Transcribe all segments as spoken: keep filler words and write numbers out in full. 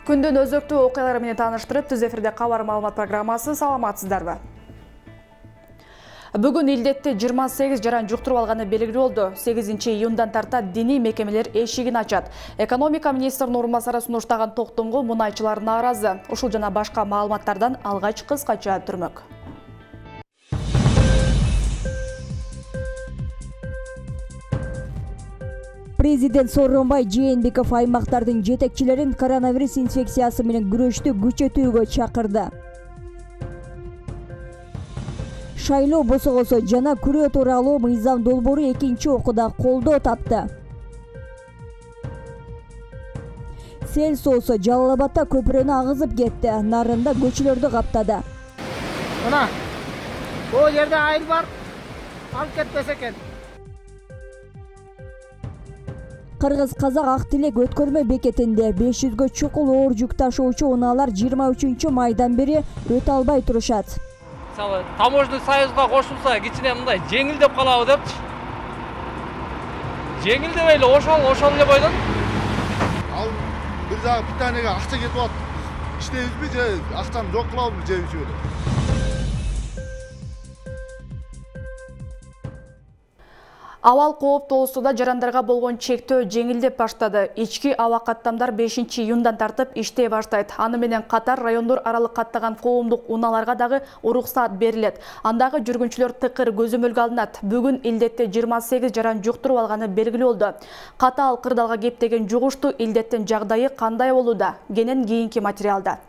Күндүн өзөктүү окуялары менен тааныштырып, түз эфирде кабар маалымат программасы. Саламатсыздарбы? Бүгүн илдетти жыйырма сегиз жаран жуктуруп алганы белгилүү болду. сегизинчи июндан тарта диний мекемелер эшигин ачат. Экономика министринин орун басары сунуштаган токтомго мунайчылар нааразы. Ушул жана башка маалыматтардан алгач кыскача түрмөк. Президент Сооронбай Жээнбеков аймактардын жетекчилерин коронавирус инфекциясы менен күрөштү күчөтүүгө чакырды. Шайлоо босогосо жана күрөө тууралуу мыйзам долбоору экинчи окууда колдоо тапты. Сел соосу Жалал Абадда көпүрөнү агызып кетти. Нарында көчөлөрдү каптады. Мына, бул жерде айыл бар. Алып кетпесе экен. Кыргыз-казак ак тилек өткөрмө бекетинде беш жүзгө чукул оор жүк ташуучу унаалар жыйырма үчүнчү майдан бери өтө албай турушат. Мисалы, таможный союзга кошулса, кичине мындай жеңилдеп калабы депчи. Жеңилдебей эле ошол, ошол эле бойдон. Ал бир жагы питаниеге акча кетип атат. Иштейбизби же акчаны жок кылабызбы же үчүгө? Абал кооптуулугунда жарандарга болгон чектөө жеңилдеп баштады. Ички аба каттамдар бешинчи июндан тартып иштей баштайт. Аны менен катар райондор аралык каттаган коомдук унааларга дагы уруксаат берилет. Андагы жүргүнчүлөр тыкыр көзөмөлгө алынат. Бүгүн илдетти жыйырма сегиз жаран жуктуруп алганы белгилүү болду. Катаал кырдаалга кептеген жугушту, илдеттин жагдайы кандай болууда? Кенен кийинки материалда.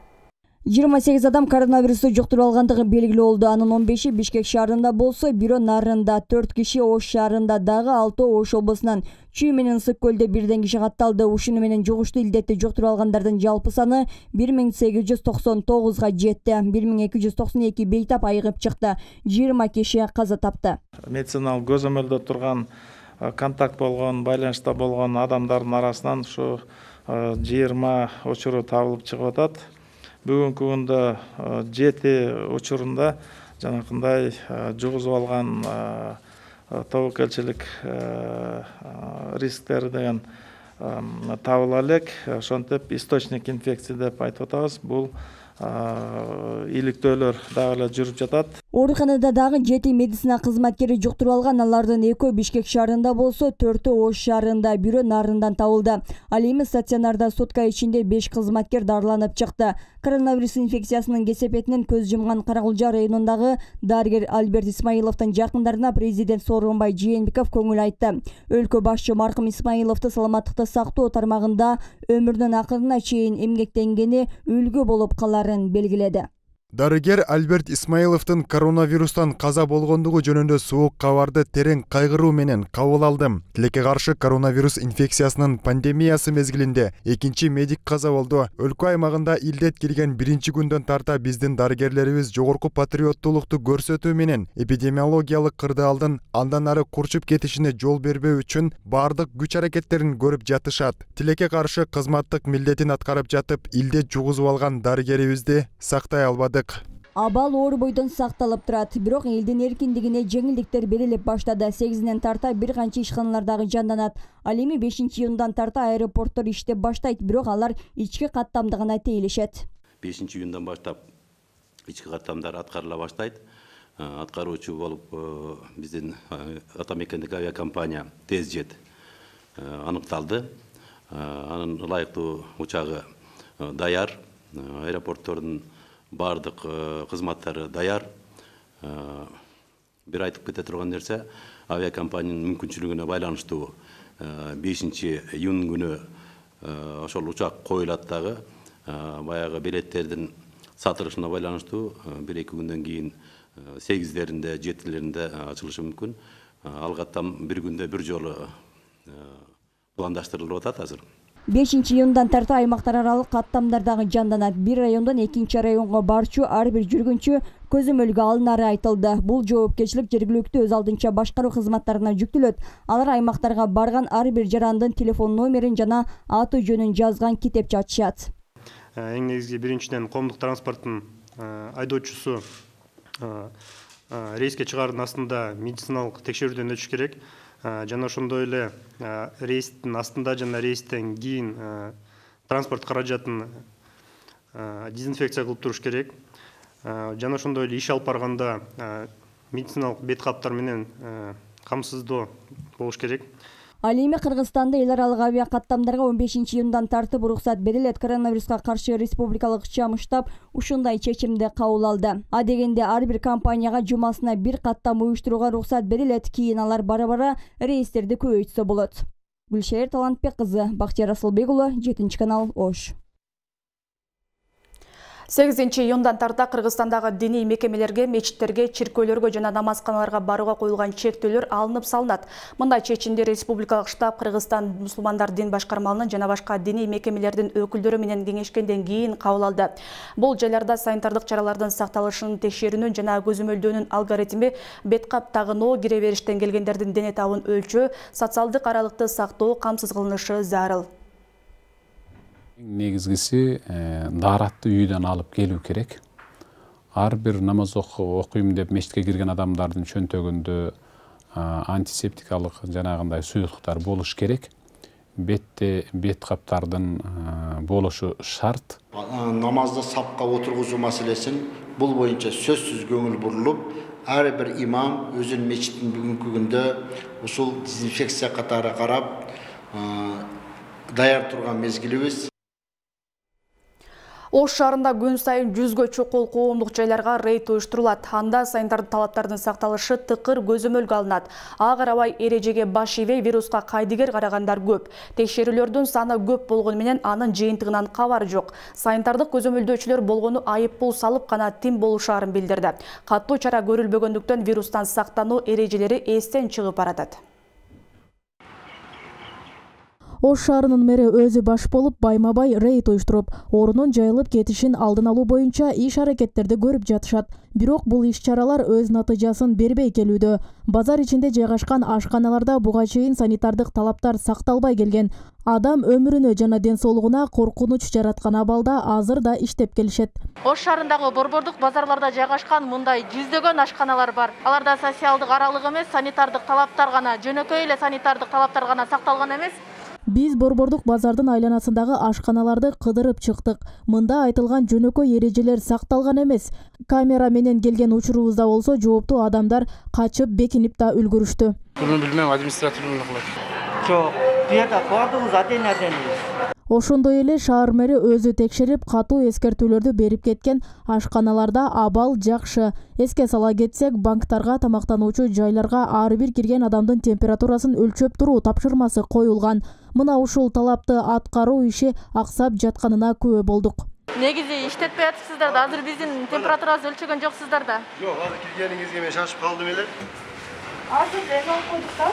жыйырма сегиз адам коронавирусту жуктуруп алгандыгы белгилүү болду. Анын он беши Бишкек шаарында болсо, бирөө Нарында, төрт киши Ош шаарында, дагы алтоо Ош облусунан, Чүй менен Ысык көлдө бирден киши катталды. Ушуну менен жугушту илдетти жуктуруп алгандардын жалпы саны бир миң сегиз жүз токсон тогузга жетти. бир миң эки жүз токсон эки бейтап айыгып чыкты. жыйырма киши каза тапты. Медициналык көзөмөлдө турган, контакт болгон, байланышта болгон адамдардын арасынан ушу жыйырма учуру табылып чыгып атат. Бүгүнкү күндө жети учурунда жанакындай жугузуп алган тобокелчилик рисктери деген табыла элек. Ошентип источник инфекции деп айтып атабыз. Бул иликтөөлөр дагы эле жүрүп жатат. Ооруканада дагы жети медицина кызматкери жуктуруп алган. Алардын экөө Бишкек шаарында болсо, төртөө Ош шаарында, бирөө Нарындан табылды. Ал эми стационарда сутка ичинде беш кызматкер дарыланып чыкты. Коронавирус инфекциясынын кесепетинен көз жумган Каракулжа районундагы дарыгер Альберт Исмаиловдун жакындарына президент Сооронбай Жээнбеков көңүл айтты. Өлкө башчы маркум Исмаиловду саламаттыкты сактоо тармагында өмүрүнүн акырына чейин эмгектенгени үлгү болуп каларын белгиледи. Дарыгер Альберт Исмаиловдун коронавирустан каза болгондугу жөнүндө суук кабарды терең кайгыруу менен кабыл алдым. Тилекке каршы коронавирус инфекциясынын пандемиясы мезгилинде экинчи медик каза болду. Өлкө аймагында илдет кирген биринчи күндөн тарта биздин дарыгерлерибиз жогорку патриоттуулукту көрсөтүү менен эпидемиологиялык кырдаалдын андан ары курчуп кетишине жол бербөө үчүн бардык күч аракеттерин көрүп жатышат. Тилекке каршы кызматтык милдетин аткарып жатып, илдет жугузуп алган дарыгерибизди сактай албады. Абал оор бойдон сакталып турат, бирок элдин эркиндигине жеңилдиктер берилип баштады. сегизинен тарта бир канча ишканалар дагы жанданат. Ал эми бешинчи июндан тарта аэропорттор иштеп баштайт, бирок алар ички каттамдыгына тейлешет. бешинчи июндан баштап ички каттамдар аткарыла баштайт. Аткаруучу болуп биздин атамекендик авиакомпания Тезжет аныкталды. Анын ылайыктуу учагы даяр, аэропорттордун бардык кызматтары даяр. Бир айтып кете турган нерсе, авиакомпаниянын мүмкүнчүлүгүнө байланыштуу бешинчи июнь күнү ошол учак коюлат дагы. Баягы билеттердин сатылышына байланыштуу бир эки күндөн кийин сегиздеринде, жетилеринде ачылышы мүмкүн. Ал каттам бир күндө бир жолу пландаштырылып атат азыр. бешинчи июндан тарта аймактар аралык каттамдар дагы жанданат. Бир райондон экинчи районго барчу ар бир жүргүнчү көзөмөлгө алынары айтылды. Бул жоопкерчилик жергиликтүү өз алдынча башкаруу кызматтарына жүктөлөт. Алар аймактарга барган ар бир жарандын телефон номерин жана аты жөнүн жазган китепче ачышат. Эң негизги биринчиден коомдук транспорттун айдоочусу рейске чыгаардын астында медициналык текшерүүдөн өтүш керек. Жана ошондой эле рейстин астында жана рейстен кийин транспорт каражатын дезинфекция кылып туруш керек. Жана ошондой эле иш алып барганда медициналык бет каптар менен камсыздоо болуш керек. Ал эми Кыргызстанда эл аралык авиа каттамдарга он бешинчи июндан тартып уруксат берилет. Коронавируска каршы республикалык чам штаб ушундай чечимди кабыл алды. А дегенде ар бир компанияга жумасына бир каттам уюштурууга уруксат берилет. Кийин алар бара-бара рейстерди көбөйтсө болот. Гүлшер Талантбек кызы, Бактияр Асылбек уулу, жетинчи канал, Ош. сегизинчи июндан тарта Кыргызстандагы диний мекемелерге, мечиттерге, чиркөөлөргө жана намазканаларга барууга коюлган чектөөлөр алынып салынат. Мындай чечимди республикалык штаб Кыргызстан мусулмандар дин башкармалынын жана башка диний мекемелердин өкүлдөрү менен кеңешкенден кийин кабыл алды. Бул жайларда санитардык чаралардын сакталышын текшерүүнүн жана көзөмөлдөөнүн алгоритми, бет кап тагынуу, кире бериштен келгендердин дене табын өлчөө, социалдык аралыкты сактоо камсыз кылынышы зарыл. Негизгиси daaratты үйдөн алып келүү керек. Ар бир намаз окуйм деп мечитке кирген адамдардын чөнтөгүндө антисептикалык жанагындай суюктуктар болуш керек. Бетте бет каптардын болушу шарт. Намазды сапка отургузуу маселесин бул боюнча сөзсүз көңүл бурулуп, ар бир имам өзүнүн мечиттин бүгүнкү күндө ушул дезинфекция катары карап даяр турган мезгилибиз. Ош шаарында күн сайын жүзгө чокол коомдук жайларга рейд уюштурулат. Анда санитардык талаптардын сакталышы тыкыр көзөмөлгө алынат. Ага карабай эрежеге баш ийбей вируска кайдыгер карагандар көп. Текшерүүлөрдүн саны көп болгону менен анын жыйынтыгынан кабар жок. Санитардык көзөмөлдөөчүлөр болгону айып пул салып гана тим болушаарын билдирди. Каттуу чара көрүлбөгөндүктөн вирустан сактануу эрежелери эстен чыгып баратат. Ош шаарынын мэри өзү баш болуп байма-бай рейд уюштуруп, орунун жайылып кетишин алдын алуу боюнча иш-аракеттерди көрүп жатышат. Бирок бул иш-чаралар өз натыйжасын бербей келүүдө. Базар ичинде жайгашкан ашканаларда буга чейин санитардык талаптар сакталбай келген. Адам өмүрүнө жана ден соолугуна коркунуч жараткан абалда азыр да иштеп келишет. Ош шаарындагы борбордук базарларда жайгашкан мындай жүздөгөн ашканалар бар. Аларда социалдык аралык эмес, санитардык талаптар гана, жөнөкөй эле санитардык талаптар гана сакталган эмес. Биз борбордук базардын айланасындагы ашканаларды кыдырып чыктык. Мында айтылган жөнөкөй эрежелер сакталган эмес. Камера менен келген учурубузда болсо жооптуу адамдар качып, бекинип да үлгүрүштү. Буну билмем, административный кылат. Жок, бу жерде бардыгыбыз атен-атенбиз. Ошондой эле шаар мэри өзү текшерип, катуу эскертүүлөрдү берип кеткен. Ашканаларда абал жакшы. Эске сала кетсек, банктарга, тамактануучу жайларга ар бир кирген адамдын температурасын өлчөп туруу тапшырмасы коюлган. Мына ушул талапты аткаруу иши аксап жатканына күбө болдук. Негизи иштетпей атышсыздар да, азыр биздин температурабызды өлчөгөн жоксуздар да. Жок, азыр киргениңизге мен шашып калдым эле. Азыр эме алып койдук да.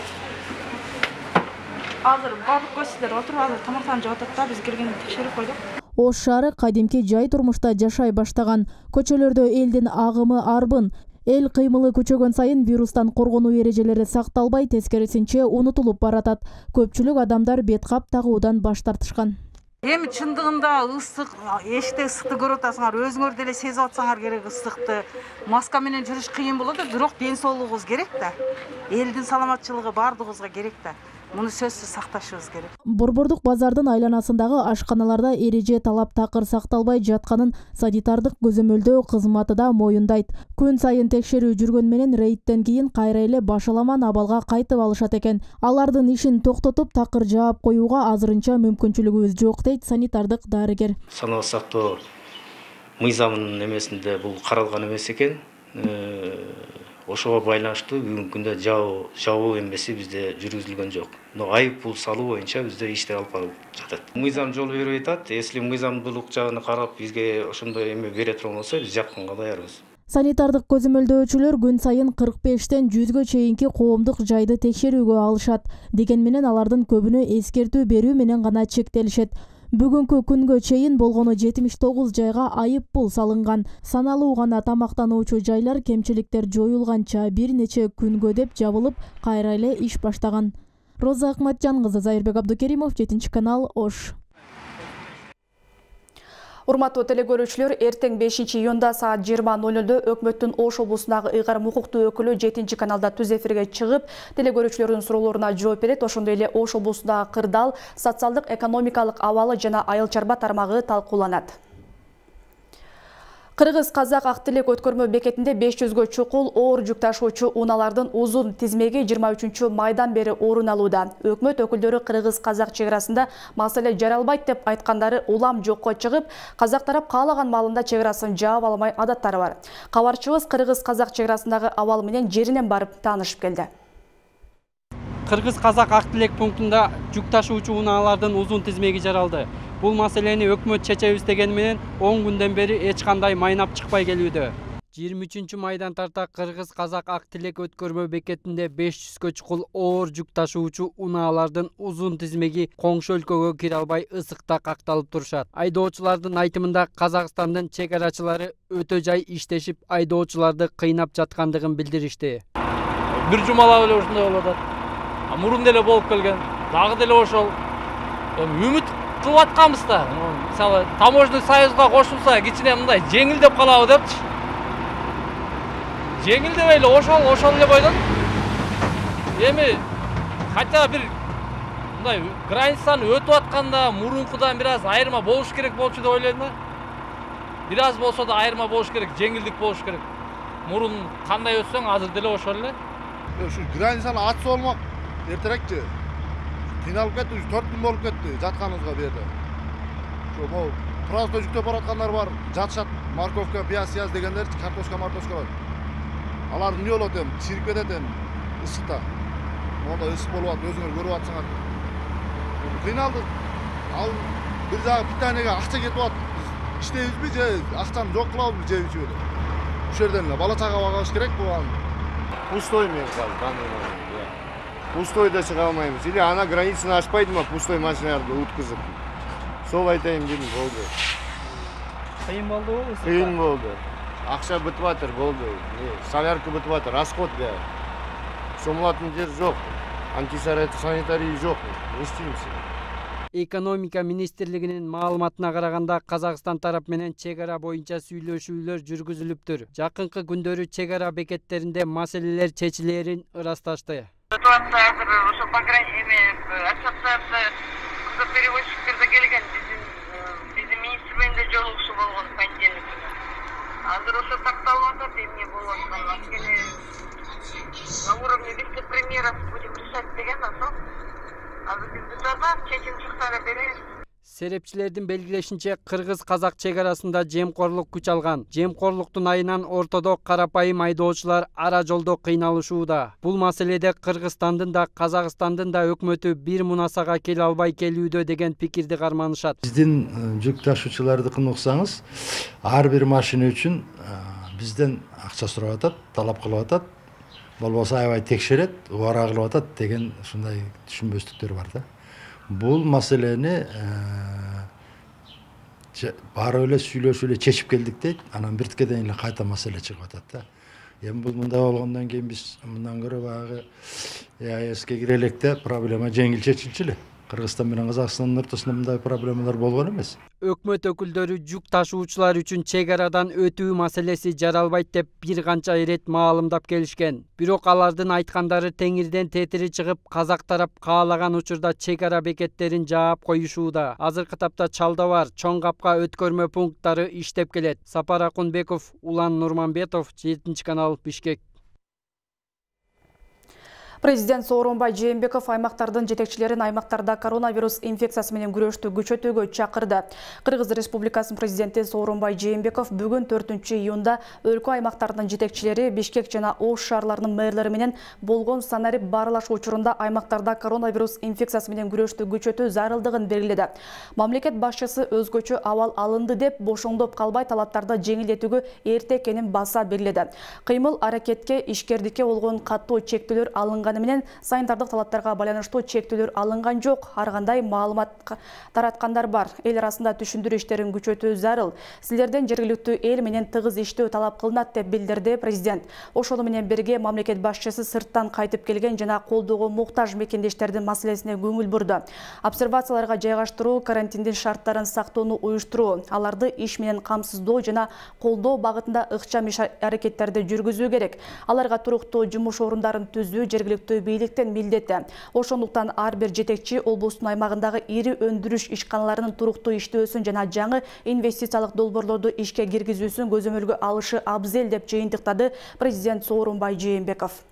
Азыр бардык көчсүздөр отуруп азыр тамактанып жеп атат да, биз киргенде текшерип койдук. Ош шаары кадимки жай турмушта жашай баштаган. Көчөлөрдө элдин агымы арбын. Эл кыймылы күчөгөн сайын вирустан коргонуу эрежелери сакталбай, тескерисинче унутулуп баратат. Көпчүлүк адамдар бет кап тагуудан баш тартышкан. Эми чындыгында ысык, эшикте ысыкты көрүп атасыңар, өзүңөр деле сезип атсаңар керек ысыкты. Маска менен жүрүш кыйын болот, бирок ден соолугубуз керек да. Элдин саламатчылыгы бардыгыбызга керек да. Муну сөзсүз сакташыбыз керек. Борбордук базардын айланасындагы ашканаларда эреже талап такыр сакталбай жатканын санитардык көзөмөлдөө кызматы да моюндайт. Күн сайын текшерүү жүргөн менен рейдтен кийин кайра эле башаламан абалга кайтып алышат экен. Алардын ишин токтотуп такыр жаап коюуга азырынча мүмкүнчүлүгүбүз жок дейт санитардык дарыгер. Саналык сактоо мыйзамынын эмесинде бул каралган эмес экен. Ошого байланыштуу бүгүнкү күндө жабуу эмеси бизде жүргүзүлгөн жок. Но айып пул салуу боюнча бизде иштер алып барып жатат. Мыйзам жол бербей атат. Если мыйзамдуулук жагын карап бизге ошондой эме бере турган болсо, биз жапканга даярбыз. Санитардык көзөмөлдөөчүлөр күн сайын кырк бештен жүзгө чейинки коомдук жайды текшерүүгө алышат. Деген менен алардын көбүнө эскертүү берүү менен гана чектелишет. Бүгүнкү күнгө чейин болгону жетимиш тогуз жайга айып пул салынган. Саналуу гана тамактануучу жайлар кемчиликтер жоюлганча бир нече күнгө деп жабылып, кайра эле иш баштаган. Роза Акматжан кызы, Зайырбек Абдукеримов, жетинчи канал, Ош. Урматтуу телекөрүүчүлөр, эртең бешинчи июнда саат жыйырма ноль нольдо өкмөттүн Ош облусундагы ыйгарым укуктуу өкүлү жетинчи каналда түз эфирге чыгып, телекөрүүчүлөрдүн суроолоруна жооп берет. Ошондой эле Ош облусундагы кырдаал, социалдык экономикалык абалы жана айыл чарба тармагы талкууланат. Кыргыз казак ак тилек өткөрмө бекетинде беш жүзгө чукул оор жүк ташуучу унаалардын узун тизмеги жыйырма үчүнчү майдан бери орун алууда. Өкмөт өкүлдөрү кыргыз казак чек арасында маселе жаралбайт деп айткандары улам жокко чыгып, казак тарап каалаган маалында чек арасын жаап алмай адаттары бар. Кабарчыбыз кыргыз казак чек арасындагы абал менен жеринен барып таанышып келди. Кыргыз казак ак тилек пунктунда жүк ташуучу унаалардын узун тизмеги жаралды. Бул маселени өкмөт чечебиз дегени менен он күндөн бери эч кандай майнап чыкпай келүүдө. жыйырма үчүнчү майдан тарта кыргыз казак ак тилек өткөрмө бекетинде беш жүзгө чукул оор жүк ташуучу унаалардын узун тизмеги коңшу өлкөгө кире албай ысыкта какталып турушат. Айдоочулардын айтымында Казакстандын чек арачылары өтө жай иштешип, айдоочуларды кыйнап жаткандыгын билдиришти. Бир жумалап эле ушундай болуп атат. Мурун деле болуп келген, дагы деле ошол. Үмүт кылып атканбыз да. Мисалы, таможный союзга кошулса, кичине мындай жеңилдеп калабы депчи. Жеңилдебей эле ошол, ошол эле бойдон. Эми хотя бир мындай границаны өтүп атканда мурункудан бир аз айырма болуш керек болчу деп ойлойм да. Бир аз болсо да айырма болуш керек, жеңилдик болуш керек. Мурун кандай өтсөң, азыр деле ошол эле. Ушу границаны ачса болмок. Эртерекчи. Кыйналып кетти, ушу төрт күн болуп кетти жатканыбызга бу жерде. Ошо могу просто жүктөп бараткандар бар, жатышат, морковка, пияз, пияз дегендер, картошка, мартошка бар. Алар эмне болот эми, чирип кетет эми ысыкта. Монда ысык болуп атат, өзүңөр көрүп атсаңар. Кыйналдык. Ал бир жагы питаниеге акча кетип атат. Иштейбизби же акчаны жок кылабызбы жеп ичип эле. Ушул жерден эле бала чага багыш керек болган. Пустой мен казыр. Пустой да чыга алмайбыз. Или ана границаны ашпайдымы пустой машиналарды уткузуп. Сол айтайын дедим, болду. Кыйын болдубу? Кыйын болду. Акча бүтүп атыр, болду. Солярка бүтүп атыр, расход да. Сомулатын жер жок. Антисанитарий жок. Не иштейбиз? Экономика министрлигинин маалыматына караганда Казакстан тарап менен чек ара боюнча сүйлөшүүлөр жүргүзүлүптүр. Жакынкы күндөрү чек ара бекеттеринде маселелер чечилерин ырасташты. Ситуация азыр ошо ассоциация перевозчиктерде келген биздин биздин министр менен да жолугушуу болгон понедельник күнү. Азыр ошо такталып атат, эмне болуп атканын анткени на уровне вице-премьеров будем решать деген ошо. Азыр биз бутада чечим чыкса эле беребиз. Серепчилердин белгилешинче, кыргыз казак чек арасында жемкорлук күч алган. Жемкорлуктун айынан ортодо карапайым айдоочулар ара жолдо кыйналышууда. Бул маселеде Кыргызстандын да, Казакстандын да өкмөтү бир мунасага келе албай келүүдө деген пикирди карманышат. Биздин жүк ташуучулардыкын уксаңыз, ар бир машина үчүн бизден акча сурап атат, талап кылып атат. Болбосо аябай текшерет, убара кылып атат деген ушундай түшүнбөстүктөр бар да. Бул маселени баары эле сүйлөшүп эле чечип келдик дейт. Анан бирткеден эле кайта маселе чыгып атат да. Эми бул мындай болгондон кийин биз мындан көрө баягы ЕАЭСке кире электе проблема жеңил чечилчү эле. Кыргызстан менен Казакстандын ортосунда мындай проблемалар болгон эмес. Өкмөт өкүлдөрү жүк ташуучулар үчүн чек арадан өтүү маселеси жаралбайт деп бир канча ирет маалымдап келишкен. Бирок алардын айткандары теңирден тетири чыгып, казак тарап каалаган учурда чек ара бекеттерин жаап коюшууда. Азыркы тапта Чалда бар, Чоң Капка өткөрмө пункттары иштеп келет. Сапар Акунбеков, Улан Нурманбетов, жетинчи канал, Бишкек. Президент Сооронбай Жээнбеков аймактардын жетекчилерин аймактарда коронавирус инфекциясы менен күрөштү күчөтүүгө чакырды. Кыргыз Республикасынын президенти Сооронбай Жээнбеков бүгүн төртүнчү июнда өлкө аймактарынын жетекчилери Бишкек жана Ош шаарларынын мэрлери менен болгон санарип баарылаш учурунда аймактарда коронавирус инфекциясы менен күрөштү күчөтүү зарылдыгын белгиледи. Мамлекет башчысы өзгөчө абал алынды деп бошоңдоп калбай талаптарды жеңилдетүүгө эрте экенин баса белгиледи. Кыймыл аракетке ишкердикке болгон катуу чектөөлөр алынган менен санитардык талаптарга байланыштуу чектөөлөр алынган жок. Ар кандай маалымат тараткандар бар. Эл арасында түшүндүрүү иштерин күчөтүү зарыл. Силерден жергиликтүү эл менен тыгыз иштөө талап кылынат деп билдирди президент. Ошону менен бирге мамлекет башчысы сырттан кайтып келген жана колдоого муктаж мекендештердин маселесине көңүл бурду. Обсервацияларга жайгаштыруу, карантиндин шарттарын сактоону уюштуруу, аларды иш менен камсыздоо жана колдоо багытында ыкчам иш аракеттерди жүргүзүү керек. Аларга туруктуу жумуш орундарын түзүү, жергиликтүү жергиликтүү бийликтин милдети. Ошондуктан ар бир жетекчи облустун аймагындагы ири өндүрүш ишканаларынын туруктуу иштөөсүн жана жаңы инвестициялык долбоорлорду ишке киргизүүсүн көзөмөлгө алышы абзел деп жыйынтыктады президент Сооронбай Жээнбеков.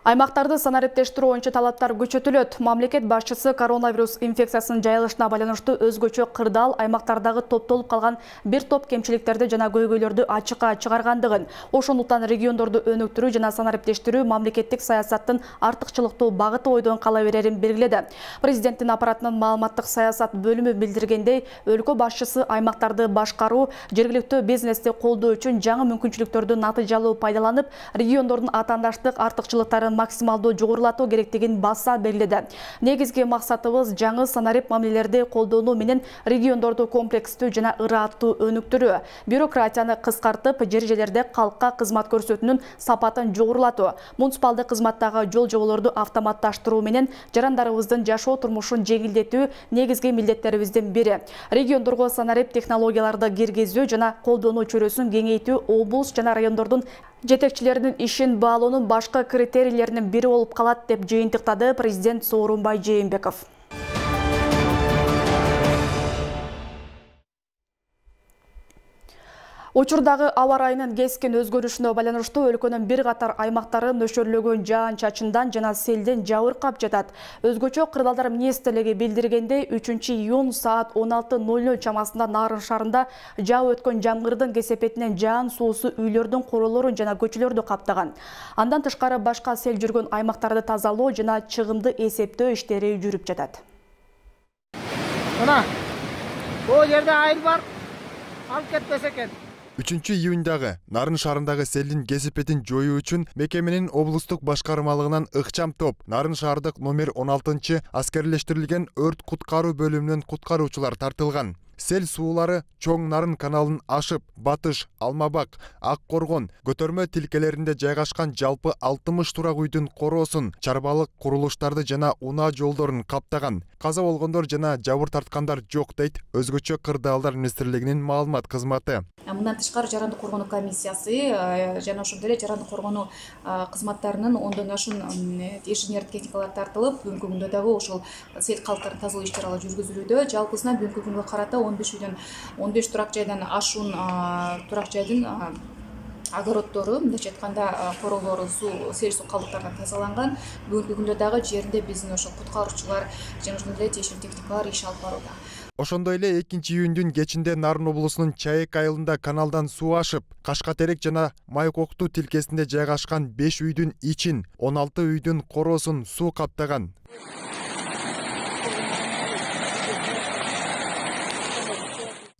Аймактарды санариптештирүү боюнча талаптар күчөтүлөт. Мамлекет башчысы коронавирус инфекциясынын жайылышына байланыштуу өзгөчө кырдаал аймактардагы топтолуп калган бир топ кемчиликтерди жана көйгөйлөрдү ачыкка чыгаргандыгын, ошондуктан региондорду өнүктүрүү жана санариптештирүү мамлекеттик саясаттын артыкчылыктуу багыты бойдон кала берерин белгиледи. Президенттин аппаратынын маалыматтык саясат бөлүмү билдиргендей, өлкө башчысы аймактарды башкаруу, жергиликтүү бизнести колдоо үчүн жаңы мүмкүнчүлүктөрдү натыйжалуу пайдаланып, региондордун атаандаштык артыкчылыктарын максималдуу жогорулатуу керектигин баса белгиледи. Негизги максатыбыз жаңы санарип мамилелерди колдонуу менен региондорду комплекстүү жана ырааттуу өнүктүрүү, бюрократияны кыскартып, жер жерлерде калкка кызмат көрсөтүүнүн сапатын жогорулатуу, муниципалдык кызматтагы жол жоболорду автоматташтыруу менен жарандарыбыздын жашоо турмушун жеңилдетүү негизги милдеттерибиздин бири. Региондорго санарип технологияларды киргизүү жана колдонуу чөйрөсүн кеңейтүү облус жана райондордун жетекчилеринин ишин баалоонун башкы критерийлеринин бири болуп калат деп жыйынтыктады президент Сооронбай Жээнбеков. Учурдагы аба ырайынын кескин өзгөрүшүнө байланыштуу өлкөнүн бир катар аймактары нөшөрлөгөн жаан-чачындан жана селден жабыркап жатат. Өзгөчө Кырдаалдар министрлиги билдиргендей, үчүнчү июнь саат он алты ноль ноль чамасында Нарын шаарында жаап өткөн жамгырдын кесепетинен жаан суусу үйлөрдүн королорун жана көчөлөрдү каптаган. Андан тышкары башка сел жүргөн аймактарды тазалоо жана чыгымды эсептөө иштери жүрүп жатат. Мына, бул жерде айыл бар, алып кетпесе экен. үчүнчү июньдагы Нарын шаарындагы селдин кесепетин жоюу үчүн мекеменин облустук башкармалыгынан ыкчам топ Нарын шаардык номер он алтынчы аскерлештирилген өрт куткаруу бөлүмүнөн куткаруучулар тартылган. Сел суулары Чоң Нарын каналын ашып, Батыш, Алмабак, Ак Коргон, көтөрмө тилкелеринде жайгашкан жалпы алтымыш турак үйдүн короосун, чарбалык курулуштарды жана унаа жолдорун каптаган. Каза болгондор жана жабыр тарткандар жок дейт Өзгөчө Кырдаалдар министрлигинин маалымат кызматы. Мындан тышкары жаранды коргонуу комиссиясы жана ошондой эле жаранды коргонуу кызматтарынын ондон ашуун инженер техникалар тартылып, бүгүнкү күндө дагы ошол сел калктарын тазалоо иш чаралары жүргүзүлүүдө. Жалпысынан бүгүнкү күнгө карата он беш үйдөн он беш турак жайдан ашуун турак жайдын огороддору, мындайча айтканда королору суу, сел суу калдыктарынан тазаланган. Бүгүнкү күндө дагы жеринде биздин ошол куткаруучулар жана ошондой эле тиешелүү техникалар иш алып барууда. Ошондой эле экинчи июньдун кечинде Нарын облусунун Чайык айылында каналдан суу ашып, Кашкатерек жана Майкоктуу тилкесинде жайгашкан беш үйдүн ичин, он алты үйдүн короосун суу каптаган.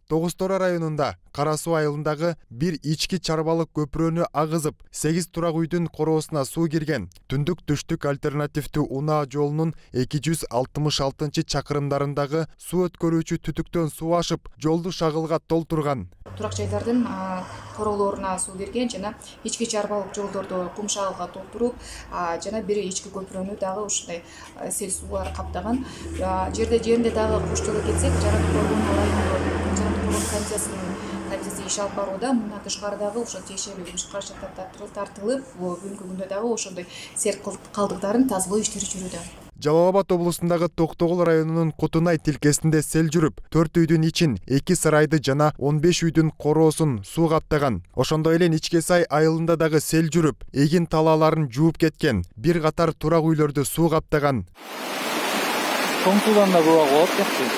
Тогуз Тора районунда Кара суу айылындагы бир ички чарбалык көпүрөнү агызып, сегиз турак үйдүн короосуна суу кирген. Түндүк түштүк альтернативдүү унаа жолунун эки жүз алтымыш алтынчы чакырымдарындагы суу өткөрүүчү түтүктөн суу ашып, жолду шагылга толтурган. Турак жайлардын короолоруна суу кирген жана ички чарбалык жолдорду кум шагылга толтуруп, жана бир ички көпүрөнү дагы ушундай сел суулар каптаган. Жерде жеринде дагы куштала кетсек, жаранды коргонуу райондо жаранды коргонуу комиссиясынын комиссиясы иш алып барууда. Мындан тышкары дагы ошол тиешелүү иш каражаттар тартылып, бүгүнкү күндө дагы ошондой сел калдыктарын тазалоо иштери жүрүүдө. Жалал Абад облусундагы Токтогул районунун Кутунай тилкесинде сел жүрүп, төрт үйдүн ичин, эки сарайды жана он беш үйдүн короосун суу каптаган. Ошондой эле Ичке Сай айылында дагы сел жүрүп, эгин талааларын жууп кеткен. Бир катар турак үйлөрдү суу каптаган. Чоң суудан да көп болот кетти.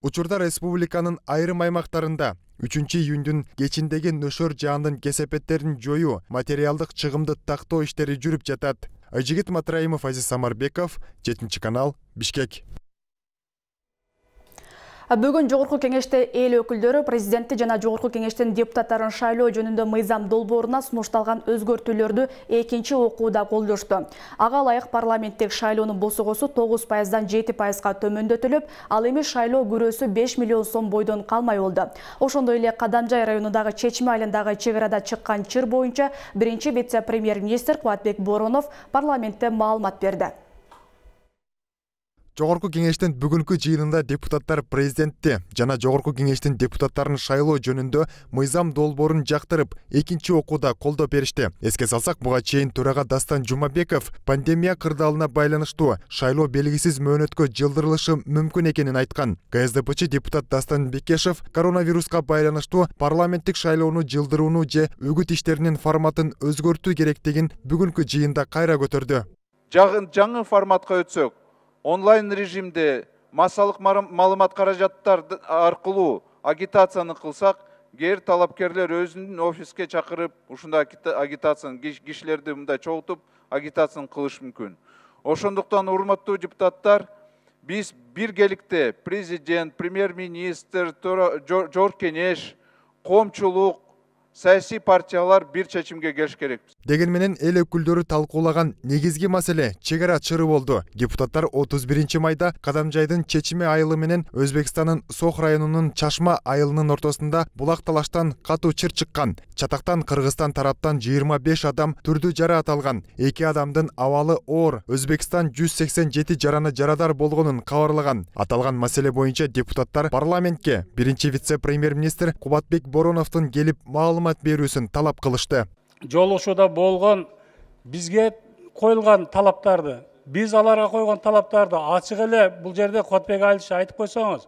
Учурда республиканын айрым аймактарында үчүнчү июньдун кечиндеги нөшөр жаандын кесепеттерин жоюу, материалдык чыгымды тактоо иштери жүрүп жатат. Айжигит Матраимов, Азиз Самарбеков, жетинчи канал, Бишкек. Бүгүн жогорку кеңеште эл өкүлдөрү президентти жана жогорку кеңештин депутаттарын шайлоо жөнүндө мыйзам долбооруна сунушталган өзгөртүүлөрдү экинчи окууда колдошту. Ага ылайык парламенттик шайлоонун босогосу тогуз пайыздан жети пайызга төмөндөтүлүп, ал эми шайлоо күрөөсү беш миллион сом бойдон калмай болду. Ошондой эле Кадамжай районундагы Чечме айылындагы чек арада чыккан чыр боюнча биринчи вице-премьер-министр Кубатбек Боронов парламентте маалымат берди. Жогорку кеңештин бүгүнкү жыйынында депутаттар президентти жана Жогорку кеңештин депутаттарын шайлоо жөнүндө мыйзам долбоорун жактырып, экинчи окууда колдоо беришти. Эске салсак, буга чейин төрага Дастан Жумабеков пандемия кырдаалына байланыштуу шайлоо белгисиз мөөнөткө жылдырылышы мүмкүн экенин айткан. КСДПчы депутат Дастан Бекешев коронавируска байланыштуу парламенттик шайлоону жылдырууну же үгүт иштеринин форматын өзгөртүү керектигин бүгүнкү жыйында кайра көтөрдү. Жаңы форматка өтсөк, онлайн режимде массалык маалымат каражаттар аркылуу агитацияны кылсак, кээ талапкерлер өзүнүн офиске чакырып, ушундай агитацияны кишилерди мындай чогултуп агитацияны кылыш мүмкүн. Ошондуктан урматтуу депутаттар, биз биргеликте президент, премьер-министр, жогорку кеңеш, коомчулук, саясий партиялар бир чечимге келиш керекпиз. Деген менен эл өкүлдөрү талкуулаган негизги маселе чек ара чыры болду. Депутаттар отуз биринчи майда Кадамжайдын чечими айылы менен Өзбекстандын Сох районунун Чашма айылынын ортосунда булак талаштан катуу чыр чыккан. Чатактан Кыргызстан тараптан жыйырма беш адам түрдүү жараат алган. эки адамдын абалы оор. Өзбекстан жүз сексен жети жараны жарадар болгонун кабарлаган. Аталган маселе боюнча депутаттар парламентке биринчи вице-премьер-министр Кубатбек Бороновдун келип маалымат берүүсүн талап кылышты. Жолугушууда болгон бизге коюлган талаптарды, биз аларга койгон талаптарды ачык эле бул жерде Кубатбек Алиш айтып койсоңуз,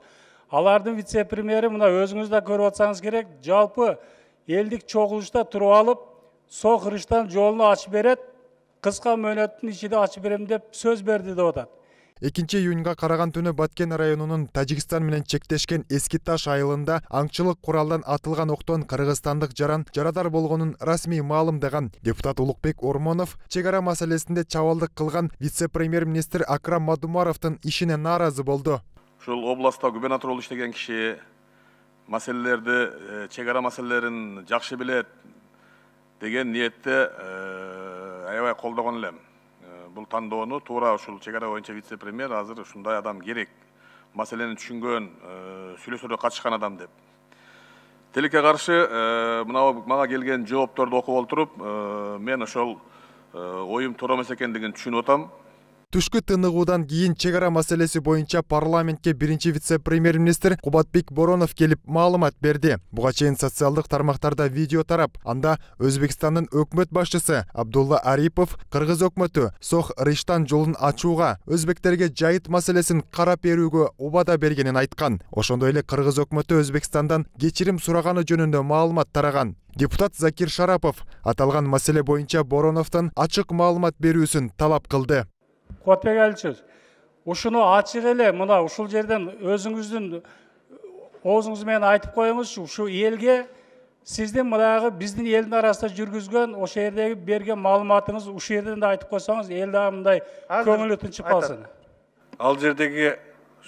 алардын вице-премьери мына өзүңүз да көрүп атсаңыз керек, жалпы элдик чогулушта туруп алып, Сох Рыштан жолуну ачып берет, кыска мөөнөттүн ичинде ачып берем деп сөз берди деп атат. экинчи июнга караган түнү Баткен районунун Тажикстан менен чектешкен Эски Таш айылында аңчылык куралдан атылган октон кыргызстандык жаран жарадар болгонун расмий маалымдаган. Депутат Улукбек Ормонов чек ара маселесинде чабалдык кылган вице-премьер-министр Акрам Мадумаровдун ишине нааразы болду. Ушул областта губернатор болуп иштеген киши маселелерди, чек ара маселелерин жакшы билет деген ниетте аябай колдогон элем. Бул тандоону туура ушул чек ара боюнча вице-премьер азыр ушундай адам керек. Маселени түшүнгөн, сүйлөшүүлөргө катышкан адам деп. Тилекке каршы мына мага келген жоопторду окуп олтуруп, мен ошол оюм туура эмес экендигин түшүнүп атам. Түшкү тыныгуудан кийин чек ара маселеси боюнча парламентке биринчи вице-премьер-министр Кубатбек Боронов келип маалымат берди. Буга чейин социалдык тармактарда видео тарап, анда Өзбекстандын өкмөт башчысы Абдулла Арипов Кыргыз өкмөтү Сох Рыштан жолун ачууга, өзбектерге жайыт маселесин карап берүүгө убада бергенин айткан. Ошондой эле Кыргыз өкмөтү Өзбекстандан кечирим сураганы жөнүндө маалымат тараган. Депутат Закир Шарапов аталган маселе боюнча Бороновдон ачык маалымат берүүсүн талап кылды. Кубатбек Аличевич, ушуну ачык эле мына ушул жерден өзүңүздүн оозуңуз менен айтып коюңузчу, ушу элге сиздин мынагы биздин элдин арасында жүргүзгөн ошол жердеги берген маалыматыңыз ушул жерден да айтып койсоңуз, эл дагы мындай көңүлү тынчып калсын. Ал жердеги